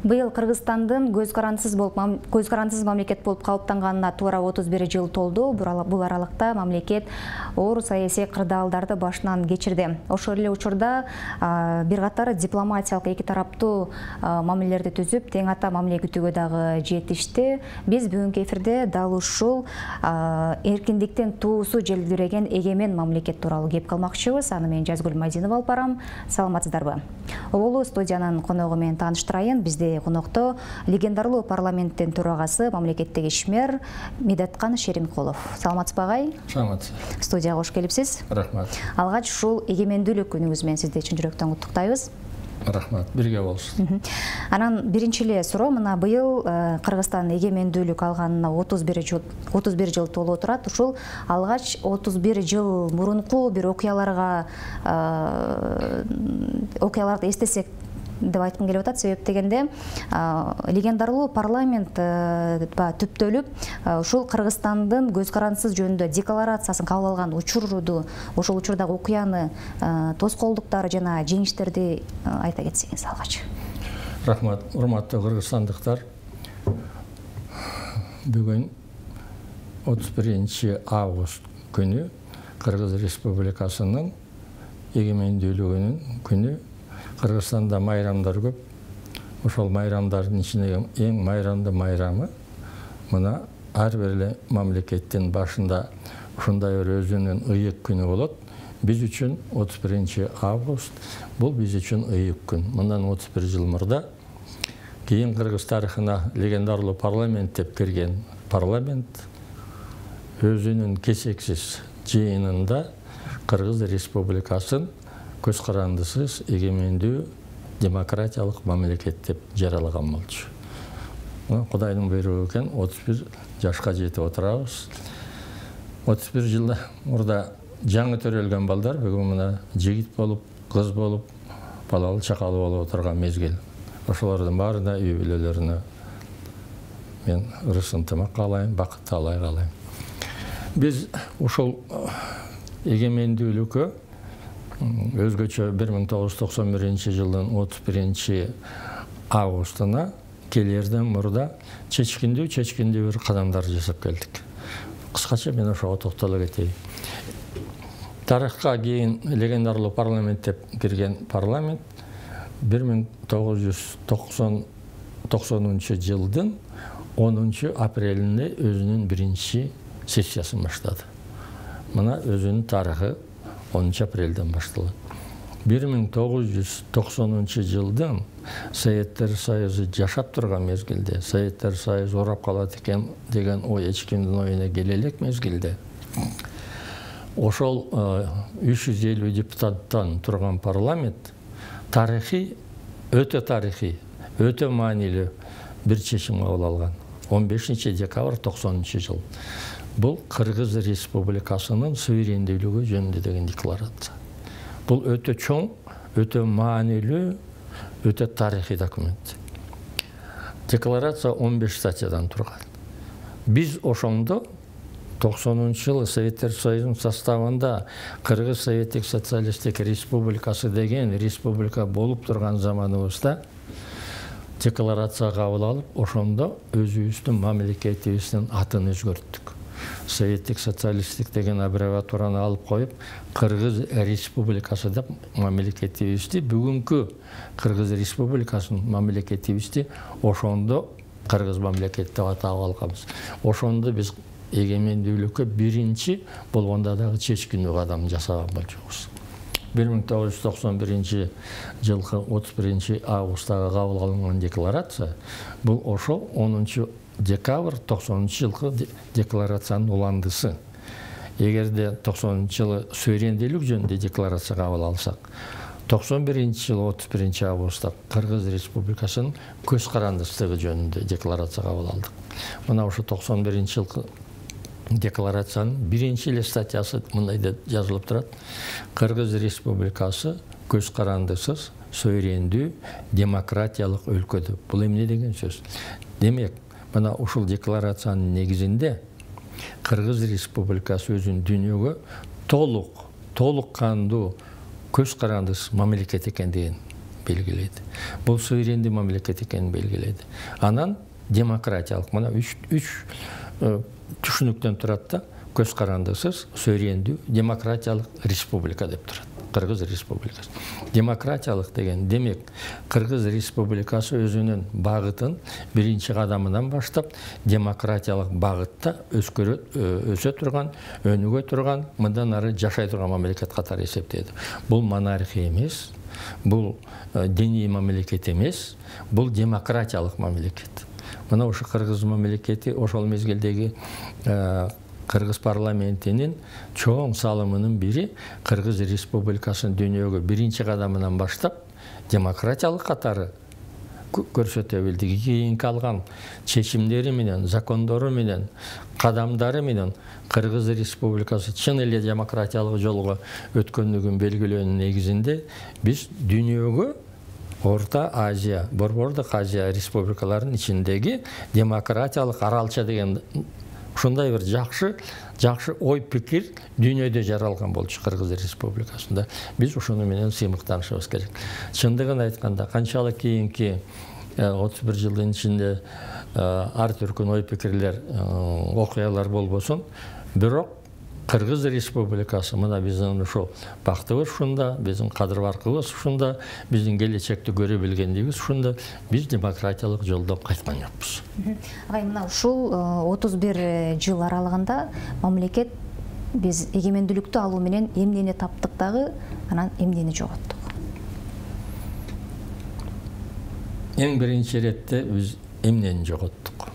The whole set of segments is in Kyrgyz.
Быйыл Кыргызстандын көз карандысыз мамлекет болуп калыптанганына туура 31 жыл толду. Бул аралыкта мамлекет оор саясий кырдаалдарды башынан кечирди. Ошол эле учурда бир катар дипломатиялык эки тараптуу мамилелерди түзүп, тең ата мамиле күтүүгө дагы жетишти. Биз бүгүнкү эфирде дал ушул эркиндиктин туусу желбиреген эгемен мамлекет тууралуу кеп калмакчыбыз. Аны мен Жазгүл Мадинова алып барам. Саламатсыздарбы? Оболу студиянын коногу менен тааныштырайын. Бизде конокто легендарлуу парламенттин төрагасы, мамлекеттик ишмер Медеткан Шеримкулов. Саламатсызбы агай? Саламатсыз. Студияга кош келипсиз. Рахмат. Алгач ушул эгемендүүлүк күнүңүз менен сизди чын жүрөктөн куттуктайбыз. Рахмат. Бирге болушун. Анан биринчи эле суроо, мына быйыл Кыргызстан эгемендүүлүк алганына 31 жыл толуп турат. Ушул алгач 31 жыл мурунку бир окуяларды эстесек деп айткым келип атат. Себеп дегенде легендарлуу парламент түптөлүп, ушул Кыргызстандын көз карандысыз жөнүндө декларациясын кабыл алган учурду, ошол учурдагы окуяны, тоскоолдуктары жана жеңиштерди айта кетсеңиз алгач. Рахмат. Урматтуу кыргызстандыктар. Бүгүн 31 август күнү Кыргыз Республикасынын эгемендүүлүгүнүн күнү. Кыргызстанда майрамдар көп. Ошол майрамдардын ичинде эң майрамдуу майрамы мына ар бир эле мамлекеттин башында ушундай бир өзүнүн ыйык күнү болот. Биз үчүн 31 август бул биз үчүн ыйык күн. Мындан 31 жыл мурда кийин Кыргыз тарыхына легендарлуу парламент деп кирген парламент өзүнүн кесексиз жыйынында Кыргыз Республикасын көз карандысыз эгемендүү демократиялык мамлекет деп жаралаган болчу. Кудайдын буйругу экен, 31 жашка жетип отурабыз. 31 жыл мурда жаңы төрөлгөн балдар бүгүн мына жигит болуп, кыз болуп, балалуу чакалуу болуп отурган мезгил. Ошолордун баарына үй бүлөлөрүнө мен ырыс ынтымак каалайм, бакыт таалай каалайм. Биз ушул эгемендүүлүккө өзгөчө 1991 жылдын 31 августуна келерден мурда чечкиндүү бир кадамдар жасап келдик. Кыскача мен ошого токтоло кетейин. Тарыхка кийин легендарлуу парламент деп кирген парламент 1990 жылдын 10 апрелинде өзүнүн биринчи сессиясын баштады. Мына өзүнүн тарыхы 10 апрелден башталат. 1990 жылдын Советтер Союзу жашап турган мезгилде, Советтер Союзу урап калат экен деген ой эч кимдин оюна келе элек мезгилде. Ошол 350 депутаттан турган парламент өтө маанилүү бир чечим кабыл алган. 15 декабрь 90 жыл. Бул Кыргыз Республикасынын суверендүүлүгү жөнүндө деген декларация. Бул өтө чоң, өтө маанилүү, өтө тарыхый документ. Декларация 15 статьядан турган. Биз ошондо 90 жылы Советтер Союзунун составында Кыргыз Советтик Социалисттик Республикасы деген республика болуп турган заманыбызда декларация кабыл алып, ошондо өзүбүздүн мамлекетибиздин атын өзгөрттүк. Советтик социалисттик деген аббревиатураны алып коюп, Кыргыз Республикасы деп мамлекетибизди, бүгүнкү Кыргыз Республикасынын мамлекетибизди ошондо Кыргыз мамлекет деп атап алганбыз. Ошондо биз эгемендүүлүккө биринчи болгондо дагы чечкиндүү кадам жасаган болчубуз. 1991 жылкы 31 августтагы кабыл алынган декларация бул ошол 10 декабрь 90 жылкы декларациянын уландысы. Эгерде 90 жылы суверендүүлүк жөнүндө декларация кабыл алсак, 91 жылы 31 августта Кыргыз Республикасынын көз карандысыздыгы жөнүндө декларация кабыл алдык. Мына ошо 91 жылкы декларациянын биринчи эле статьясы мындай деп жазылып турат. Кыргыз Республикасы көз карандысыз, суверендүү, демократиялык өлкөдө. Бул эмне деген сөз? Демек, мына ушул декларациянын негизинде Кыргыз Республикасы өзүнүн дүйнөгө толук кандуу көз карандысыз мамлекет экендигин белгилейди. Бул суверендүү мамлекет экенин белгилейди. Анан демократиялык мына үч түшүнүктөн турат да. Көз карандысыз суверендүү демократиялык республика деп турат. Кыргыз республикасы. Демократиялык деген демек Кыргыз республикасы өзүнүн багытын биринчи кадамынан баштап демократиялык багытта өсө турган, өнүгө турган, мындан ары жашай турган мамлекет катары эсептейди. Бул монархия эмес, бул диний мамлекет эмес, бул демократиялык мамлекет. Мына ошо Кыргыз мамлекети ошол мезгилдеги Кыргыз парламентинин чоң салымынын бири Кыргыз республикасынын дүйнөгө биринчи кадамынан баштап демократиялык катары көрсөтө билди. Кийинки алган чечимдери менен, закондору менен, кадамдары менен Кыргыз республикасы чын эле демократиялык жолго өткөндүгүн белгилөөнүн негизинде биз дүйнөгө Орта Азия, Борбордук Азия республикаларынын ичиндеги демократиялык аралча деген ушундай бир жакшы ой пикир дүйнөдө жаралган болчу Кыргыз республикасында. Биз ошону менен сыймыктанышыбыз керек. Чындыгын айтканда, канчалык кийинки 31 жылдын ичинде ар түркүн ой пикирлер, окуялар болбосун, бирок Кыргыз республикасы мына биздин ошол бактыбыз ушунда, биздин кадыр-баркыбыз ушунда, биздин келечекти көрө билгендигибиз ушунда, биз демократиялык жолдон кайткан жокпуз. Агай, мына ушул 31 жыл аралыгында мамлекет биз эгемендүүлүктү алуу менен эмнени таптык дагы, анан эмнени жоготтук? Эң биринчи иретте биз эмнени жоготтук?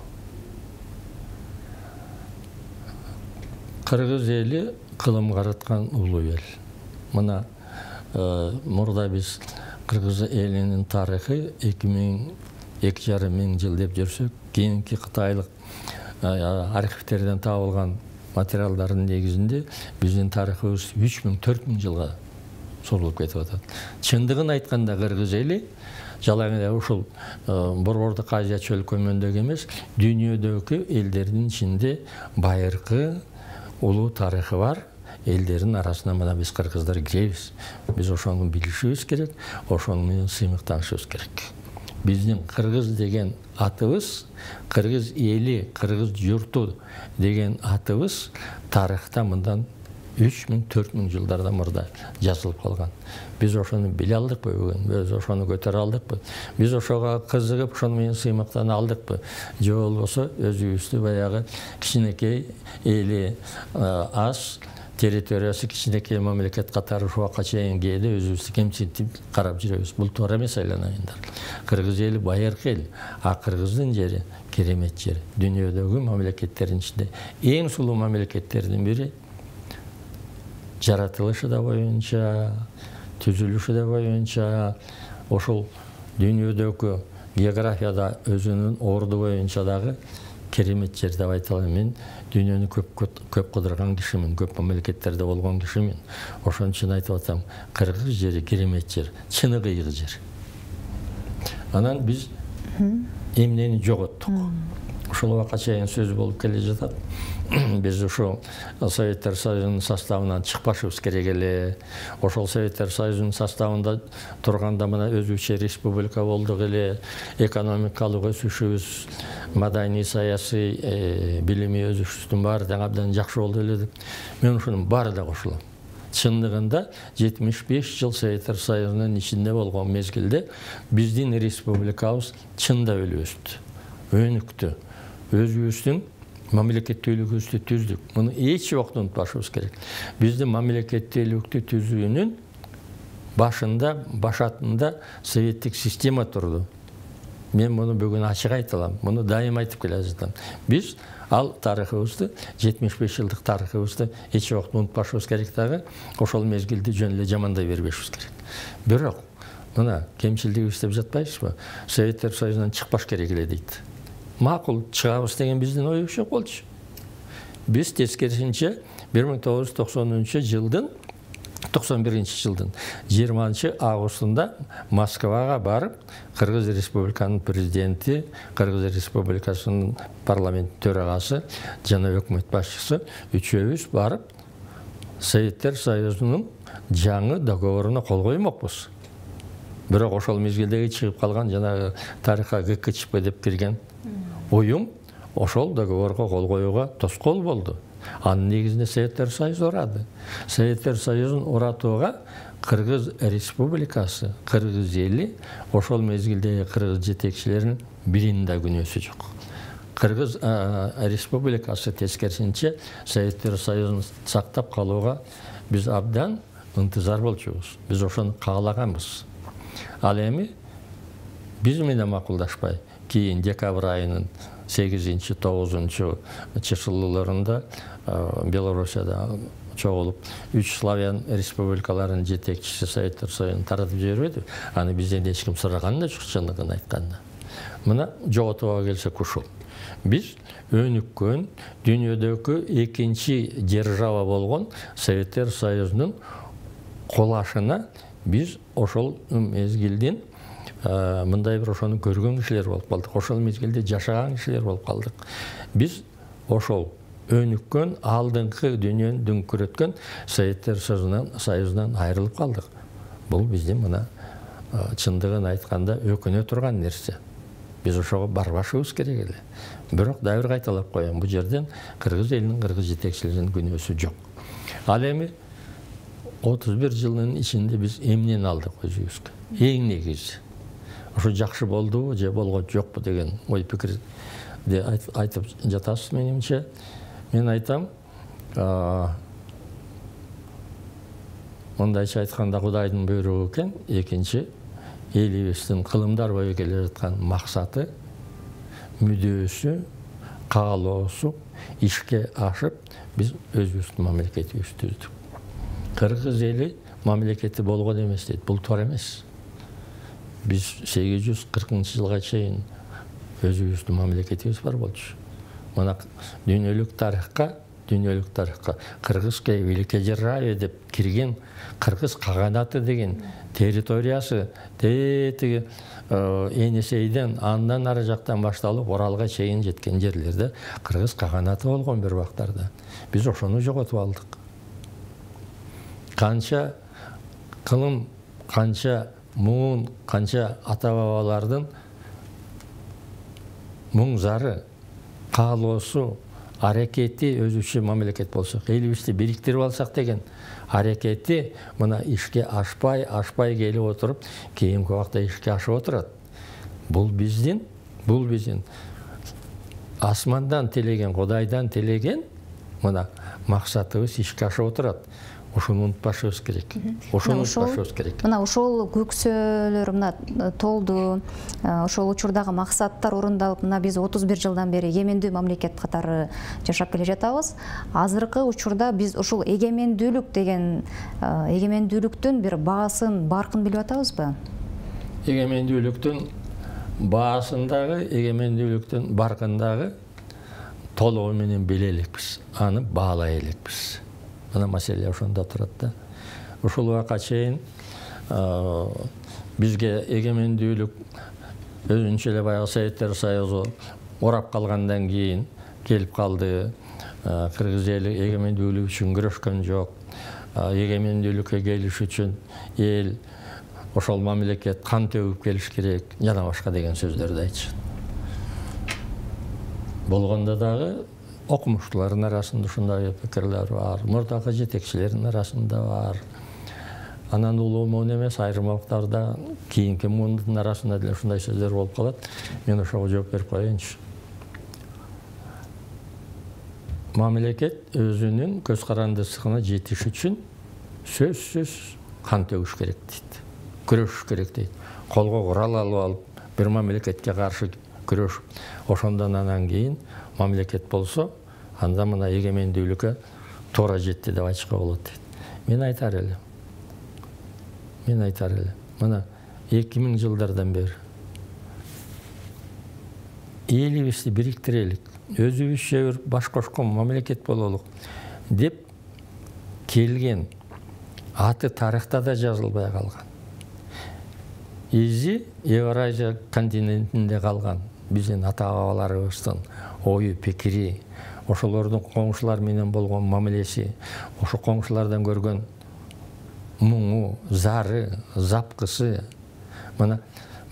Кыргыз эли кылым караткан улуу эл. Мына мурда биз Кыргыз элинин тарыхы 2,5 миң жыл деп жүрсөк, кийинки кытайлык архивтерден табылган материалдардын негизинде биздин тарыхыбыз 3,000–4,000 жылга созулуп кетип атат. Чындыгын айтканда Кыргыз эли жалаң эле ушул Борбордук Азия чөл көмөндөгү эмес, дүйнөдөгү элдердин ичинде байыркы улуу тарыхы бар элдердин арасына мына биз кыргыздар киребиз. Биз ошону билишибиз керек, ошону менен сыймыктанышыбыз керек. Биздин кыргыз деген атыбыз, кыргыз эли, кыргыз журту деген атыбыз тарыхта мындан 3,000–4,000 жылдардан мурда жазылып калган. Биз ошону биле алдыкпы бүгүн? Биз ошону көтөрө алдыкпы? Биз ошого кызыгып, ошону менен сыймыктана алдыкпы? Же болбосо өзүбүздү баягы кичинекей эли аз, территориясы кичинекей мамлекет катары ушул убакка чейин кээде өзүбүздү кемсинтип карап жүрөбүз. Бул туура эмес айланайындар. Кыргыз эли байыркы эл, а Кыргыздын жери керемет жер. Дүйнөдөгү мамлекеттердин ичинде эң сулуу мамлекеттердин бири. Жаратылышы да боюнча, түзүлүшү да боюнча, ошол дүйнөдөгү географияда өзүнүн орду боюнча дагы керемет жер деп айта алам. Мен дүйнөнү көп кыдырган кишимин, көп мамлекеттерде болгон кишимин. Ошон үчүн айтып атам, Кыргыз жери керемет жер, чыны кыйгы жер. Анан биз эмнени жоготтук? Ушул убакка чейин сөз болуп келе жатат. Биз ошол Советтер Союзунун составынан чыкпашыбыз керек эле. Ошол Советтер Союзунун составында турганда мына өзүнчө республика болдук эле. Экономикалык өсүшүбүз, маданий, саясий, билимий өсүшүбүздүн баары да абдан жакшы болду эле деп. Мен ушунун баарына кошулам. Чындыгында 75 жыл Советтер Союзунун ичинде болгон мезгилде биздин республикабыз чында өстү, өнүктү. Өзүбүздүн мамлекеттүүлүгүбүздү түздүк. Муну эч убакта унутпашыбыз керек. Биздин мамлекеттүүлүктү түзүүнүн башатында советтик система турду. Мен муну бүгүн ачык айта алам. Муну дайым айтып келе жатам. Биз ал тарыхыбызды, 75 жылдык тарыхыбызды эч убакта унутпашыбыз керек дагы. Ошол мезгилди жөн эле жамандай бербешибиз керек. Бирок мына кемчилдигибиз деп жатпайбызбы? Советтер Союзунан чыкпаш керек эле дейт. Макул чыгабыз деген биздин оюбуз жок болчу. Биз тескерисинче 1991 жылдын 20-августунда Москвага барып, Кыргыз Республиканын президенти, Кыргыз Республикасынын парламент төрагасы жана өкмөт башчысы үчөөбүз барып Советтер Союзунун жаңы договоруна кол коймокпуз. бирок ошол мезгилдеги чыгып калган жанагы тарыхка ГКЧП деп кирген уюм ошол договорго кол коюуга тоскоол болду. Анын негизинде Советтер Союзу урады. Советтер Союзун уратууга Кыргыз Республикасы, Кыргыз эли ошол мезгилдеги кыргыз жетекчилеринин биринин да күнөөсү жок. Кыргыз Республикасы тескерисинче Советтер Союзун сактап калууга биз абдан ынтызар болчубуз. Биз ошону каалаганбыз. Ал эми биз менен макулдашпай, кийин декабрь айынын 8-9 чысылууларында Белоруссияда чогулуп 3 славян республикаларынын жетекчиси Советтер Союзун таратып жибербеди. Аны бизден эч ким сураган да жок, чындыгын айтканда. Мына жоготууга келсек ушул. Биз өнүккөн дүйнөдөгү экинчи держава болгон Советтер Союзунун колашына биз ошол мезгилдин мындай бир ошону көргөн кишилер болуп калдык. Ошол мезгилде жашаган кишилер болуп калдык. Биз ошол өнүккөн алдыңкы дүйнөнү дүңкүрөткөн Советтер Союзунан айрылып калдык. Бул биздин мына чындыгын айтканда өкүнө турган нерсе. Биз ошого барбашыбыз керек эле. Бирок дайыр кайталап коем, бул жерден кыргыз элинин, кыргыз жетекчилеринин күнөөсү жок. Ал эми 31 жылдын ичинде биз эмнени алдык өзүбүзгө? Эң негизи ошо жакшы болдубу же болгон жокпу деген ой пикирди айтып жатасыз менимче. Мен айтам, мындайча айтканда Кудайдын буйругу экен. Экинчи элибиздин кылымдар бою келе жаткан максаты, мүдөөсү, каалоосу ишке ашып, биз өзүбүздүн мамлекетибизди түздүк. Кыргыз эли мамлекети болгон эмес дейт. Бул туура эмес. Биз 840-жылга чейин өзүбүздүн мамлекетибиз бар болчу. Мына дүйнөлүк тарыхка Кыргызское великодержавие деп кирген Кыргыз каганаты деген территориясы тетиги Энисейден андан ары жактан башталып Оралга чейин жеткен жерлерде Кыргыз каганаты болгон бир убактарда. Биз ошону жоготуп алдык. Канча кылым, канча муун, канча ата-бабалардын муң зары, каалоосу, аракети өзүчө мамлекет болсок, элибизди бириктирип алсак деген аракети мына ишке ашпай келип отуруп, кийинки убакта ишке ашып отурат. Бул биздин асмандан телеген, Кудайдан телеген мына максатыбыз ишке ашып отурат. Ошону унутпашыбыз керек. Мына ошол көксөлөр мына толду, ошол учурдагы максаттар орундалып, мына биз 31 жылдан бери эгемендүү мамлекет катары жашап келе жатабыз. Азыркы учурда биз ошол эгемендүүлүк деген эгемендүүлүктүн бир баасын, баркын билип атабызбы? Эгемендүүлүктүн баасындагы, эгемендүүлүктүн баркындагы толугу менен биле элекпиз, аны баалай элекпиз. Мына маселе ошондо турат да. Ушул убакка чейин бизге эгемендүүлүк өзүнчө эле баягы Советтер Союзу урап калгандан кийин келип калды. Кыргыз эли эгемендүүлүк үчүн күрөшкөн жок. Эгемендүүлүккө келиш үчүн эл ошол мамлекет кан төгүп келиш керек, жана башка деген сөздөрдү айтышат. Болгондо дагы окумуштуулардын арасында ушундай пикирлер бар, мурдагы жетекчилердин арасында бар. Анан улуу муун эмес, айрым убактарда кийинки муундун арасында деле ушундай сөздөр болуп калат. Мен ошого жооп берип коеюнчу. Мамлекет өзүнүн көз карандысына жетиш үчүн сөзсүз кан төгүш керек дейт. Күрөшүш керек дейт. Колго курал алып алып, бир мамлекетке каршы күрөшүп, ошондон анан кийин мамлекет болсо, анда мына эгемендүүлүккө туура жетти деп айтышка болот дейт. Мен айтар элем. Мына 2000 жылдардан бери элибизди бириктирелик, өзүбүзчө бир баш кошкон мамлекет бололук деп келген аты тарыхта да жазылбай калган. Изи Евразия континентинде калган биздин ата-бабаларыбыздын ою, пикири, ошолордун коңшулар менен болгон мамилеси, ошо коңшулардан көргөн муңу, зары, запкысы, Мына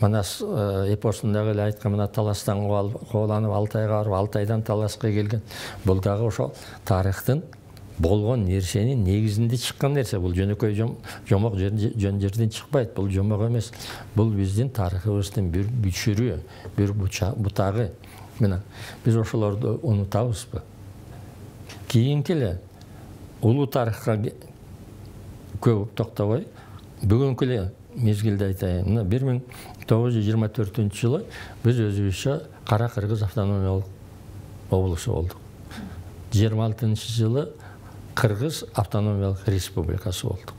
Манас эпосундагы эле айткан мына таластан кубаланып Алтайга барып, Алтайдан таласка келген. Бул дагы ошол тарыхтын болгон нерсенин негизинде чыккан нерсе. Бул жөнөкөй жомок жөн жерден чыкпайт. Бул жомок эмес. Бул биздин тарыхыбыздын бир бүчүрү, бир бутагы. Мына биз ошолорду унутабызбы? Кийинки эле улуу тарыхка көп токтобой, бүгүнкү эле мезгилде айтайын. Мына 1924-жылы биз өзүбүзчө Кара Кыргыз автономиялык облусу болдук. 26-жылы Кыргыз автономиялык республикасы болдук.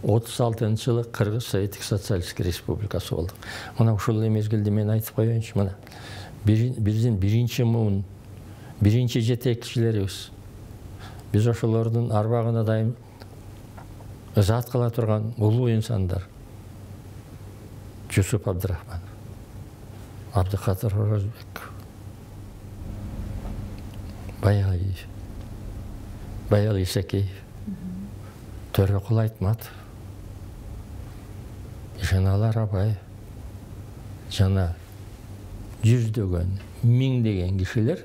36-жылы Кыргыз Советтик социалисттик республикасы болдук. Мына ушул мезгилде мен айтып коеюнчу, мына биздин биринчи муун, биринчи жетекчилерибиз. Биз ошолордун арбагына дайым ызаат кыла турган улуу инсандар. Жусуп Абдрахманов, Абдыкадыр Оразбек, Баялиев, Баял Исакеев, Төрөкул Айтматов, Жаналар Абаев, жана жүздөгөн, миңдеген кишилер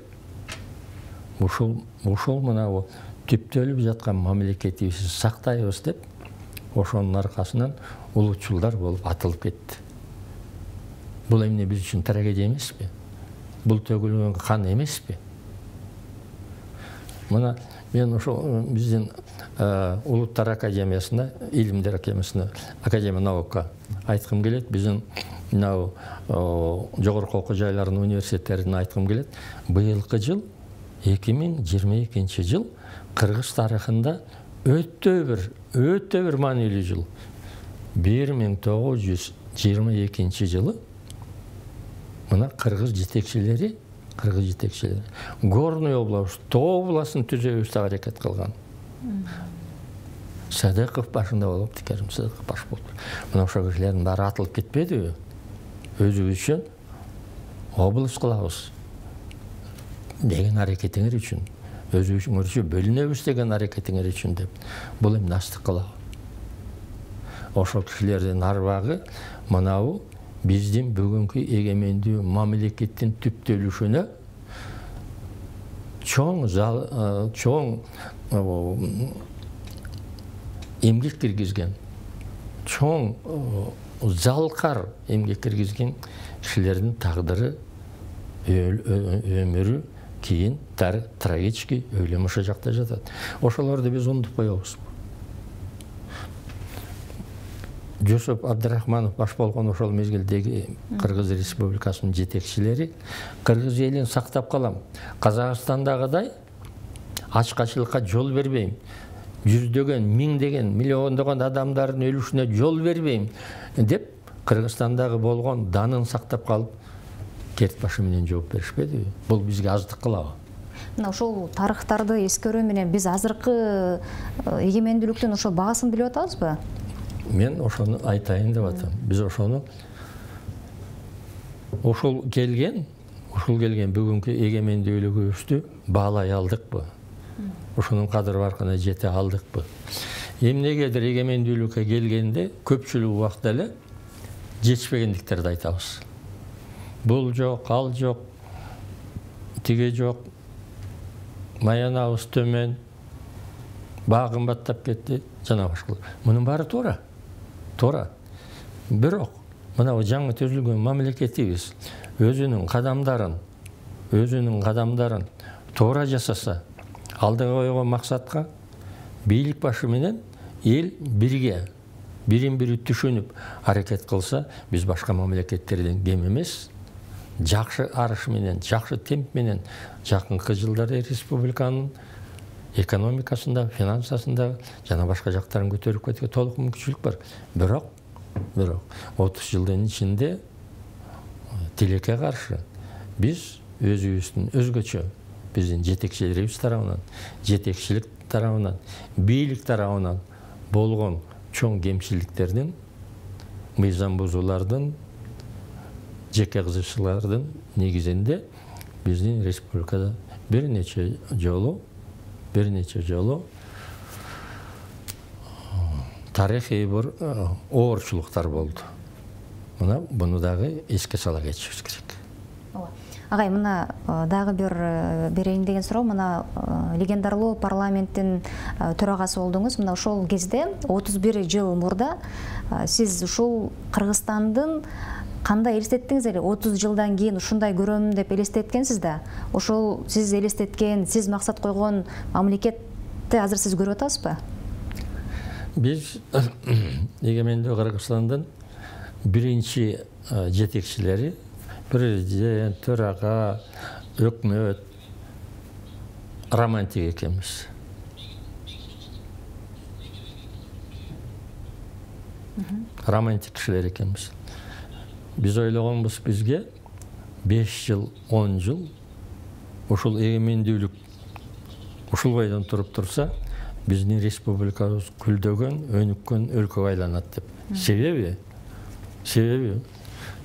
ушул мына түптөлүп жаткан мамлекетибизди сактайбыз деп, ошонун аркасынан улуучулдар болуп атылып кетти. Бул эмне биз үчүн трагедия эмеспи? Бул төгүлгөн кан эмеспи? Мына мен ошол биздин Улуттар академиясына, Илимдер академиясына, Академия наука айткым келет. Биздин мына жогорку окуу жайларынын университеттерине айткым келет. Быйылкы жыл 2022 жыл Кыргыз тарыхында өтө бир маанилүү жыл. 1922 жылы мына кыргыз жетекчилери Горный область, Тоо областын түзөбүз деп аракет кылган. Садыков башында болуп, Тикерим Садыков баш болуп. Мына ошол кишилердин баары атылып кетпедиби? Өзүбүз үчүн область кылабыз деген аракетиңер үчүн, өзүңөрчө бөлүнөбүз деген аракетиңер үчүн деп, бул эми настык кылабы. Ошол кишилердин арбагы мынабу биздин бүгүнкү эгемендүү мамлекеттин түптөлүшүнө чоң эмгек киргизген, чоң залкар эмгек киргизген кишилердин тагдыры, өмүрү кийин трагический өлүм ошол жакта жатат. Ошолорду биз унутуп коебуз. Жусуп Абдрахманов баш болгон ошол мезгилдеги Кыргыз Республикасынын жетекчилери кыргыз элин сактап калам, Казакстандагыдай ачкачылыкка жол бербейм, жүздөгөн, миңдеген, миллиондогон адамдардын өлүшүнө жол бербейм деп Кыргызстандагы болгон данын сактап калып, керт башы менен жооп беришпедиби? Бул бизге аздык кылабы? Мына ошол тарыхтарды эскерүү менен биз азыркы эгемендүүлүктүн ошо баасын билип атабызбы? Мен ошону айтайын деп атам. Биз ошону ушул келген бүгүнкү эгемендүүлүгүбүздү баалай алдыкпы? Ошонун кадыр баркына жете алдыкпы? Эмнегедир эгемендүүлүккө келгенде көпчүлүк убакта эле жетишпегендиктерди айтабыз. Бул жок, ал жок, тиге жок, маянабыз төмөн, баа кымбаттап кетти, жана башка. Мунун баары туура. Бирок мына жаңы түзүлгөн мамлекетибиз өзүнүн кадамдарын туура жасаса, алдыга койгон максатка бийлик башы менен эл бирге, бирин-бири түшүнүп аракет кылса, биз башка мамлекеттерден кем эмес. Жакшы арыш менен, жакшы темп менен жакынкы жылдары республиканын экономикасында, финансасында жана башка жактарын көтөрүп кетүүгө толук мүмкүнчүлүк бар. Бирок 30 жылдын ичинде тилекке каршы биз өзүбүздүн өзгөчө, биздин жетекчилерибиз тарабынан, жетекчилик тарабынан, бийлик тарабынан болгон чоң кемчиликтердин, мыйзам бузуулардын, жеке кызыкчылыктардын негизинде биздин республикада бир нече жолу тарыхый бир оорчулуктар болду. Мына буну дагы эске сала кетишибиз керек. Агай, мына дагы бир берейин деген суроо. Мына легендарлуу парламенттин төрагасы болдуңуз. Мына ошол кезде 31 жыл мурда сиз ушул Кыргызстандын кандай элестеттиңиз эле? 30 жылдан кийин ушундай көрөм деп элестеткенсиз да. Ошол сиз элестеткен, сиз максат койгон мамлекетти азыр сиз көрүп атасызбы? Биз эгемендүү Кыргызстандын биринчи жетекчилери, президент, төрага, өкмөт романтик экенбиз. Романтик кишилер экенбиз. Биз ойлогонбуз, бизге 5 жыл, 10 жыл ушул эгемендүүлүк ушул бойдон туруп турса, биздин республикабыз күлдөгөн, өнүккөн өлкөгө айланат деп. Себеби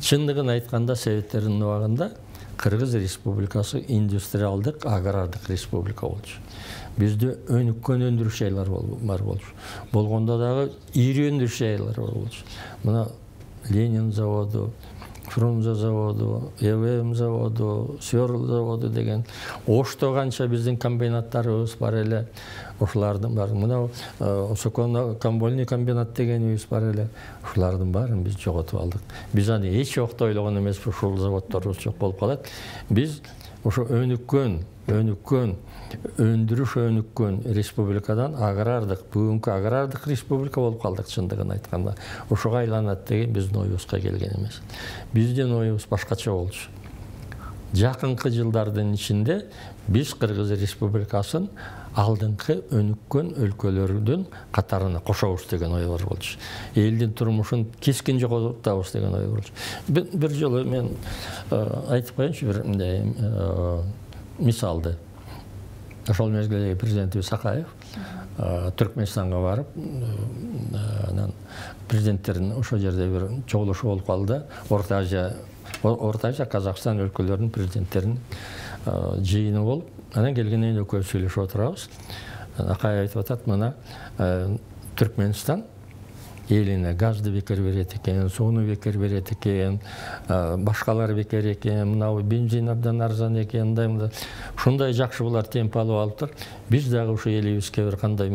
чындыгын айтканда Советтердин убагында Кыргыз Республикасы индустриалдык, агрардык республика болчу. Бизде өнүккөн өндүрүш жайлар бар болчу. Болгондо дагы ири өндүрүш жайлар бар болчу. Мына Ленин заводу, Фрунзе заводу, ЭВМ заводу, Сверл заводу деген Ошто канча биздин комбинаттарыбыз бар эле. Ушулардын баары, мына Соконо-Камбольный комбинат дегенибиз бар эле. Ушулардын баарын биз жоготуп алдык. Биз аны эч убакта ойлогон эмеспиз, ушул заводдорубуз жок болуп калат. Биз ошо өнүккөн, өндүрүш өнүккөн республикадан агрардык, бүгүнкү агрардык республика болуп калдык чындыгын айтканда. Ошого айланат деген биздин оюбузга келген эмес. Биздин оюбуз башкача болчу. Жакынкы жылдардын ичинде биз Кыргыз Республикасын алдыңкы өнүккөн өлкөлөрдүн катарына кошобуз деген ой бар болчу. Элдин турмушун кескин жоготабыз деген ой болчу. Бир жолу мен айтып коеюнчу бир мисалды. Ошол мезгилдеги президентибиз Сакаев Түркменистанга барып, анан президенттердин ошол жерде бир чогулушу болуп калды. Орто Азия, Казакстан өлкөлөрүнүн президенттеринин жыйыны болуп, анан келгенден кийин экөөбүз сүйлөшүп отурабыз. Акаев айтып атат, мына Түркменстан элине газды бекер берет экен, сууну бекер берет экен, башкалар бекер экен, мына бензин абдан арзан экен, мындай ушундай жакшы булар темп алып алыптыр. Биз дагы ушу элибизге бир кандай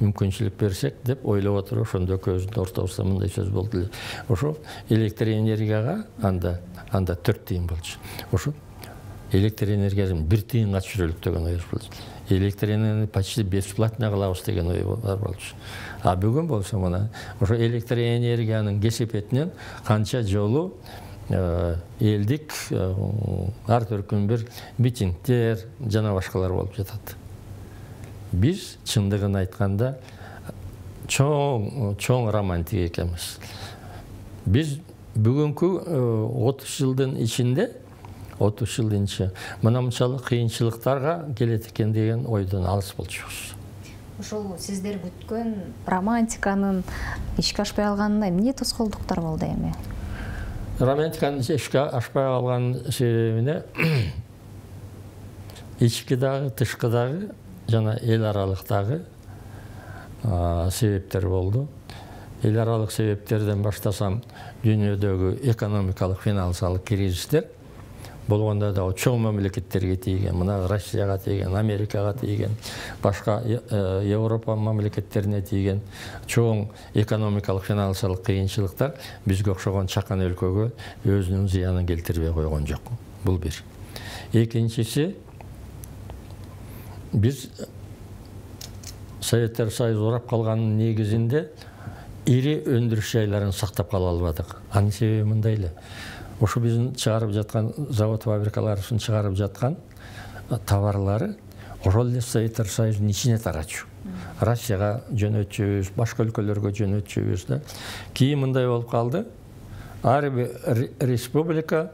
мүмкүнчүлүк берсек деп ойлоп отуруп, ошондо экөөбүздүн ортобузда мындай сөз болду эле. Ошо электр энергияга анда 4 тыйын болчу. Ошо электр энергиясын 1 тыйынга түшүрөлүк деген ой болчу. Электр энергияны почти бесплатно кылабыз деген ой бар болчу. А бүгүн болсо мына ошо электр энергиянын кесепетинен канча жолу элдик ар түркүн бир митингдер жана башкалар болуп жатат. Биз чындыгын айтканда чоң романтик экенбиз. Биз бүгүнкү 30 жылдын ичинде мына мынчалык кыйынчылыктарга келет экен деген ойдон алыс болчубуз. Ошол сиздер күткөн романтиканын ишке ашпай калганына эмне тоскоолдуктар болду эми? Романтиканын ишке ашпай калган себебине ички дагы, тышкы дагы жана эл аралыктагы себептер болду. Эл аралык себептерден баштасам, дүйнөдөгү экономикалык финансылык кризистер болгондо да чоң мамлекеттерге тийген, мына Россияга тийген, Америкага тийген, башка Европа мамлекеттерине тийген чоң экономикалык финансылык кыйынчылыктар бизге окшогон чакан өлкөгө өзүнүн зыянын келтирбей койгон жок. Бул бир. Экинчиси, биз Советтер Союзу урап калганын негизинде ири өндүрүш жайларын сактап кала албадык. Анын себеби мындай эле. Ошо биздин чыгарып жаткан завод фабрикаларыбыздын чыгарып жаткан товарлары ошол эле Советтер Союзунун ичине тарачу. Россияга жөнөтчүбүз, башка өлкөлөргө жөнөтчүбүз да. Кийин мындай болуп калды. Ар бир республика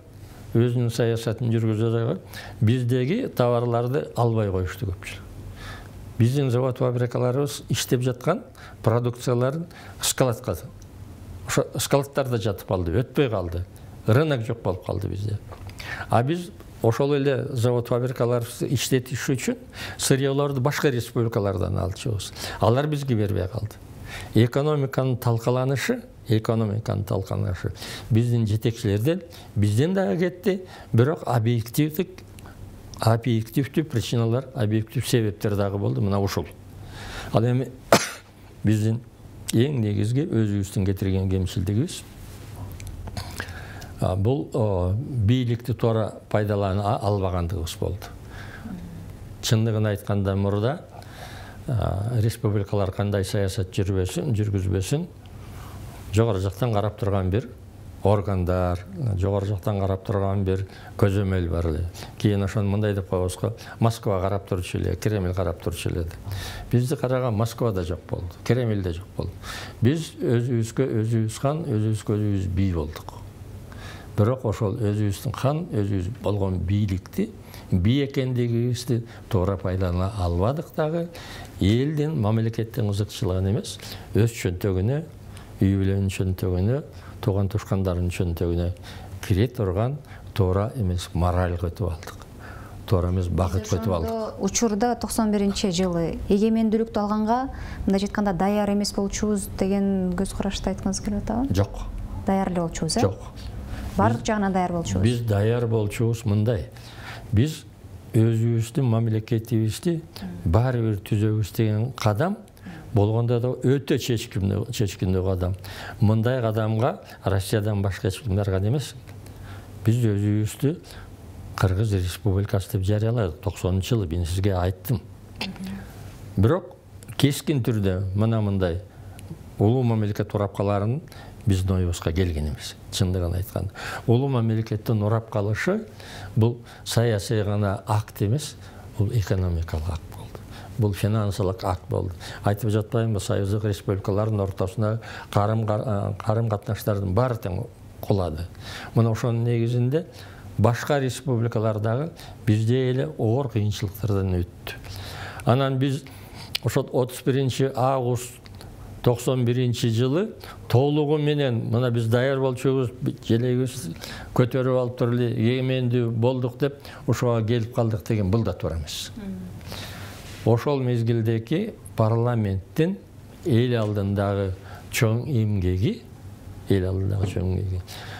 өзүнүн саясатын жүргүзөт. Биздеги товарларды албай коюшту көпчүлүк. Биздин завод фабрикаларыбыз иштеп жаткан продукцияларын складка, ошо складтарда жатып калды, өтпөй калды. Рынок жок болуп калды бизде. А биз ошол эле завод фабрикаларыбызды иштетиш үчүн сырьёлорду башка республикалардан алчубуз. Алар бизге бербей калды. Экономиканын талкаланышы, экономиканы талкандашы биздин жетекчилерден бизден дагы кетти, бирок объективдүү причиналар, объектив себептер дагы болду. Мына ушул. Ал эми биздин эң негизги өзүбүздүн кетирген кемчилдигибиз бул бийликти туура пайдалана албагандыгыбыз болду. Чындыгын айтканда мурда республикалар кандай саясат жүргүзбөсүн, жогору жактан карап турган бир органдар, жогору жактан карап турган бир көзөмөл бар эле. Кийин ошону мындай деп коебуз го, Москва карап турчу эле, Кремль карап турчу эле. Бизди караган Москва да жок болду, Кремль да жок болду. Биз өзүбүзгө өзүбүз хан, өзүбүзгө өзүбүз бий болдук. Бирок ошол өзүбүздүн хан, өзүбүз болгон бийликти, бий экендигибизди туура пайдалана албадык дагы. Элдин, мамлекеттин кызыкчылыгын эмес, өз чөнтөгүнө, үй бүлөнүн чөнтөгүнө, туган тушкандардын чөнтөгүнө кире турган туура эмес мораль көтүп алдык. Туура эмес багыт көтүп алдык. Учурда 91-жылы эгемендүүлүктү алганга, мындай айтканда даяр эмес болчубуз деген көз карашты айткыңыз келип атабы? Жок. Даяр эле болчубуз, э? Жок. Бардык жагынан даяр болчубуз. Биз даяр болчубуз мындай. Биз өзүбүздүн мамлекетибизди баары бир түзөбүз деген кадам болгондо да өтө чечкиндүү кадам. Мындай кадамга Россиядан башка эч ким барган эмес. Биз өзүбүздү Кыргыз Республикасы деп жарыяладык 90-жылы, мен сизге айттым. Бирок кескин түрдө мына мындай улуу мамлекет урапкаларын биздин оюбузга келген эмес. Чындыгын айтканда, улуу мамлекеттин урап калышы бул саясий гана акт эмес, бул экономикалык акт болду. Бул финансылык акт болду. Айтып жатпаймынбы, союздук республикалардын ортосуна карым катнаштардын баары тең кулады. Мына ошонун негизинде башка республикалардагы бизде эле оор кыйынчылыктардан өттү. Анан биз ошол 31 август 91-жылы толугу менен мына биз даяр болчубуз, желегибиз көтөрүп алып туруп эле эгемендүү болдук деп ошого келип калдык деген бул да туура эмес. Ошол мезгилдеги парламенттин эл алдындагы чоң эмгеги,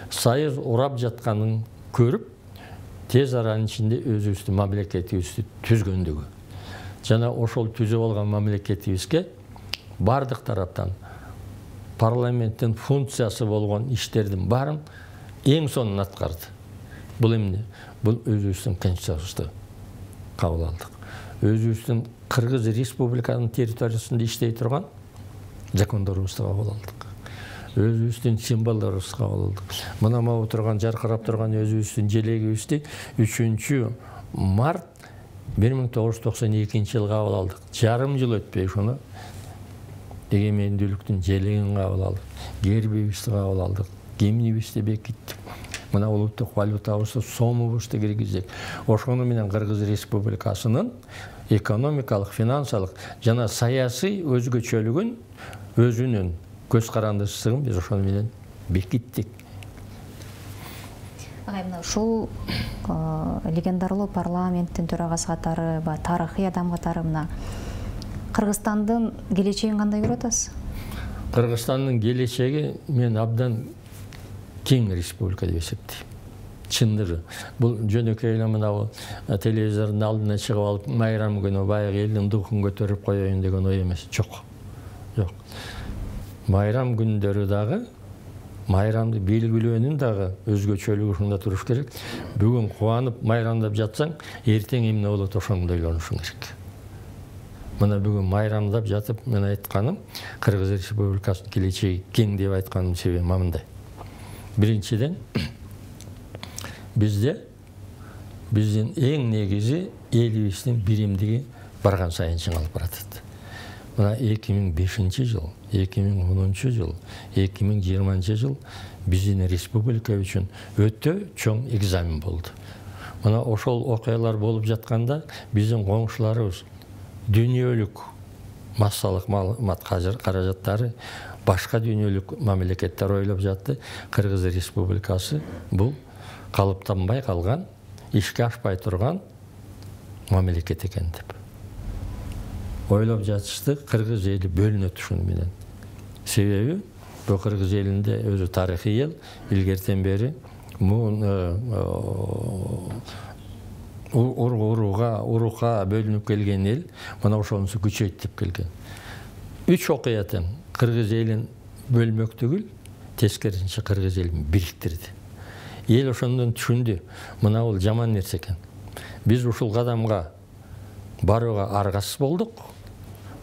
союз урап жатканын көрүп, тез аранын ичинде өзүбүздүн мамлекетибизди түзгөндүгү. Жана ошол түзүп алган мамлекетибизге бардык тараптан парламенттин функциясы болгон иштердин баарын эң сонун аткарды. Бул эмне? Бул өзүбүздүн конституциябызды кабыл алдык. Өзүбүздүн Кыргыз Республиканын территориясында иштей турган закондорубузду кабыл алдык. Өзүбүздүн символдорубузду кабыл алдык. Мына могу турган, жаркырап турган өзүбүздүн желегибизди 3 март 1992-жылы кабыл алдык. Жарым жыл өтпөй ошону эгемендүүлүктүн желегин кабыл алдык, гербибизди кабыл алдык, гимнибизди бекиттик. Мына улуттук валютабызды, сомубузду киргиздик. Ошону менен Кыргыз Республикасынын экономикалык, финансылык жана саясий өзгөчөлүгүн, өзүнүн көз карандысыздыгын биз ошону менен бекиттик. Агай, мына ушул легендарлуу парламенттин төрагасы катары, тарыхый адам катары мына Кыргызстандын келечегин кандай көрүп атасыз? Кыргызстандын келечеги мен абдан кең республика деп эсептейм. Чындыгы. Бул жөнөкөй эле мына телевизордун алдына чыгып алып, майрам күнү баягы элдин духун көтөрүп коеюн деген ой эмес. Жок. Жок. Майрам күндөрү дагы, майрамды белгилөөнүн дагы өзгөчөлүгү ушунда туруш керек. Бүгүн кубанып майрамдап жатсаң, эртең эмне болот ошону ойлонушуң керек. Мына бүгүн майрамдап жатып, мен айтканым, Кыргыз Республикасынын келечеги кең деп айтканымдын себеби мындай. Биринчиден, бизде биздин эң негизи элибиздин биримдиги барган сайын чыңалып баратат. Мына 2005-жыл, 2010-жыл, 2020-жыл биздин республика үчүн өтө чоң экзамен болду. Мына ошол окуялар болуп жатканда биздин коңшуларыбыз дүйнөлүк массалык маалымат каражаттары башка дүйнөлүк мамлекеттер ойлоп жатты. Кыргыз Республикасы бул калыптанбай калган, ишке ашпай турган мамлекет экен деп. Ойлоп жатышты, кыргыз эли бөлүнөт ушуну менен. Себеби Бул кыргыз элинде өзү тарыхый эл, илгертен бери урукка бөлүнүп келген эл, мына ошонусу күчөйтүп келген. 3 окуятан кыргыз элин бөлмөк түгүл, тескерисинче кыргыз элин бириктирди. Эл ошондон түшүндү, мына бул жаман нерсе экен. Биз ушул кадамга барууга аргасыз болдук.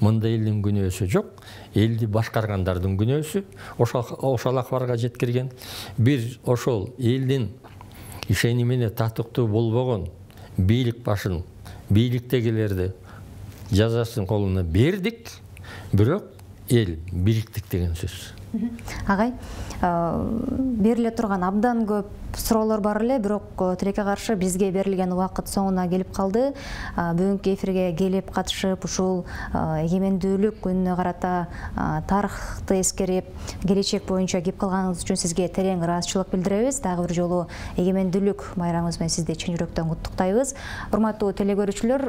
Мында элдин күнөөсү жок, элди башкаргандардын күнөөсү ошол акыбарга жеткирген. Бир ошол элдин ишени менен татыктуу болбогон бийлик башын, бийликтегилерди жазасын колуна бердик, бирок эл бириктик деген сөз. Агай, бериле турган абдан көп суроолор бар эле, бирок тилекке каршы бизге берилген убакыт соңуна келип калды. Бүгүнкү эфирге келип катышып, ушул эгемендүүлүк күнүнө карата тарыхты эскерип, келечек боюнча кеп калганыңыз үчүн сизге терең ыраазычылык билдиребиз. Дагы бир жолу эгемендүүлүк майрамыңыз менен сизди чын жүрөктөн куттуктайбыз. Урматтуу телекөрүүчүлөр,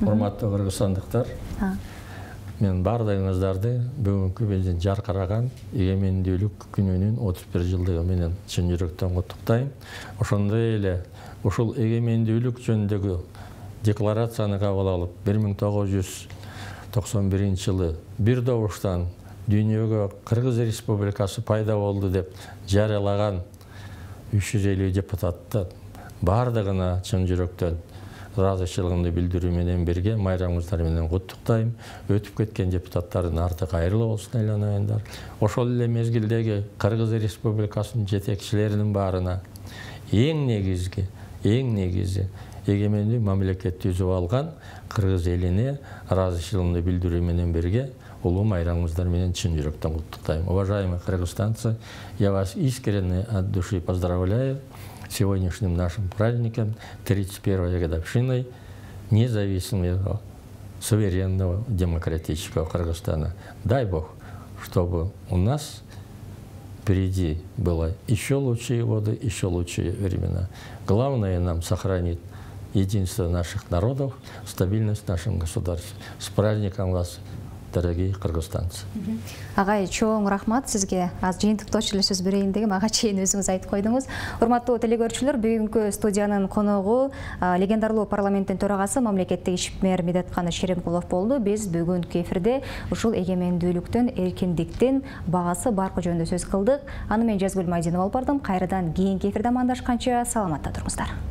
урматтуу кыргызстандыктар, мен бардыгыңыздарды бүгүнкү биздин жаркыраган эгемендүүлүк күнүнүн 31 жылдыгы менен чын жүрөктөн куттуктайм. Ошондой эле ушул эгемендүүлүк жөнүндөгү декларацияны кабыл алып, 1991 жылы бир добуштан дүйнөгө Кыргыз Республикасы пайда болду деп жарыялаган 350 депутаттын бардыгына чын жүрөктөн ыраазычылыгымды билдирүү менен бирге майрамыңыздар менен куттуктайм. Өтүп кеткен депутаттардын арты кайырлуу болсун айланайындар. Ошол эле мезгилдеги Кыргыз Республикасынын жетекчилеринин баарына эң негизи эгемендүү мамлекет түзүп алган кыргыз элине ыраазычылыгымды билдирүү менен бирге улуу майрамыңыздар менен чын жүрөктөн куттуктайм. Уважаемые кыргызстанцы, я вас искренне от души поздравляю сегодняшним нашим праздником, 31-й годовщиной независимого, суверенного, демократического Кыргызстана. Дай Бог, чтобы у нас впереди было еще лучшие годы, еще лучшие времена. Главное нам сохранить единство наших народов, стабильность в нашем государстве. С праздником вас, дорогие кыргызстанцы. Агай, чоң рахмат сизге. Аз жыйынтыктоочу эле сөз берейин дегем, ага чейин өзүңүз айтып койдуңуз. Урматтуу телекөрүүчүлөр, бүгүнкү студиянын коногу легендарлуу парламенттин төрагасы мамлекеттик ишмер Медетканы Шеремкулов болду. Биз бүгүнкү эфирде ушул эгемендүүлүктүн, эркиндиктин багасы баркы жөнүндө сөз кылдык. Аны мен Жазгүл Майдинова алып бардым. Кайрадан кийинки эфирде амандашканча саламатта туруңуздар.